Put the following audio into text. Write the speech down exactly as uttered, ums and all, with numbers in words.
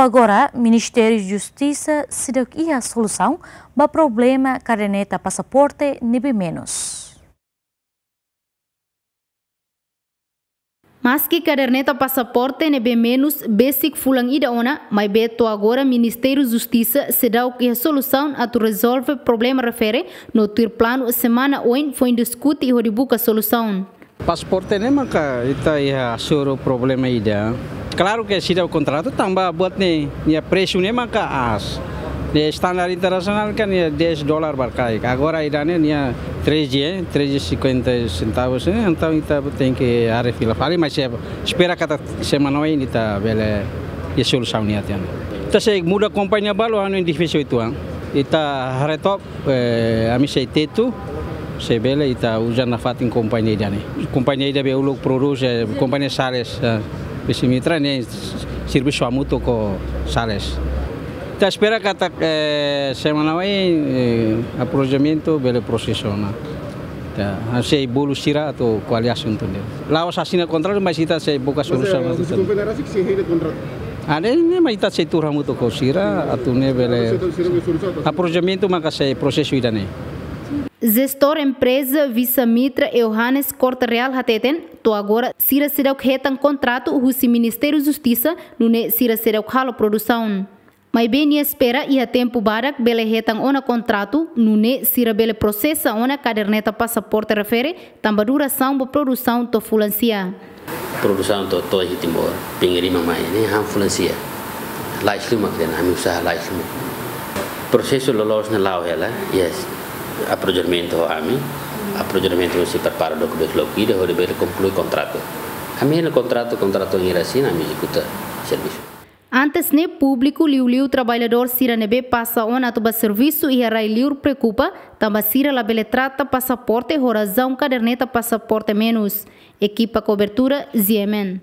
Agora, Ministériu Justisa seidauk iha solusaun ba problema kaderneta pasaporte ne'ebé menus. Maski kaderneta pasaporte ne'ebé menus besik fulan ida ona, maibé to'o agora Ministériu Justisa seidauk iha solusaun atu rezolve problema refere, no tuir planu semana oin foin diskute hodi buka solusaun. Pasaporte ne'e maka ita iha suru problema ida. Klaru ke seidauk kontratu tanba buat ne'e, nia presu ne'e maka aas. Nia standar internasionál kan nia dez dolar ba karik. Agora ida-ne'e nia treze, eh, treze cinquenta centavos, eh, entaun ita tenke haree fila fali, mas espera katak semana oin ita bele iha solusaun nia tiha ona. Ita sei muda kompañia balu, anu difisil uitoan. Ita haree took, eh, ami sei tetu, se bele ita uza nafatin kompañia ida-ne'e. Kompañia ida be uluk prodús, eh, kompañia Sales, eh, Visa Mitra ne'e servisu hamutuk ho Sales. Ita espera katak, eh, semana oin, eh, aprobamentu bele prosesa ona. Ita sei bolu sira atu ko'alia asuntu ne'e. La'ós asina kontratu, mas ita sei buka solusaun. Mas, eh, husi kompañia rasik sei hili kontratu? Ah, ne'e, ne'e mak ita sei tuur hamutuk ho sira, atu ne'e bele. Aprobamentu maka sei prosesu ida-ne'e. Jestór empreza Visa Mitra, Johannes Corte Real hateten, to'o agora sira seidauk hetan kontratu husi Ministériu Justisa, nune'e sira seidauk halo produsaun. Maibé nia espera iha tempu badak bele hetan ona kontratu, nune'e sira bele prosesa ona kaderneta pasaporte refere, tanba durasaun ba produsaun to'o fulan sia. Produsaun to'o, to'o iha Timor, pinga rima mai ne'e han fulan sia. Lais liu mak dehan, ami usaha lais liu mak. Prosesu loloos ne'e la'o hela, yes. Aprobamentu ho ami, aprobamentu sei prepara dokumentu loki ida hodi bele konklui kontratu. Ami hili kontratu, kontratu ne'e asina, ami ezekuta servisu. Antes ne'e públiku, liuliu traballadór sira ne'ebé pasa ona atu ba servisu iha rai-liur preokupa, tanba sira labele trata pasaporte ho razaun kaderneta pasaporte menus. Ekipa kobertura, G M N.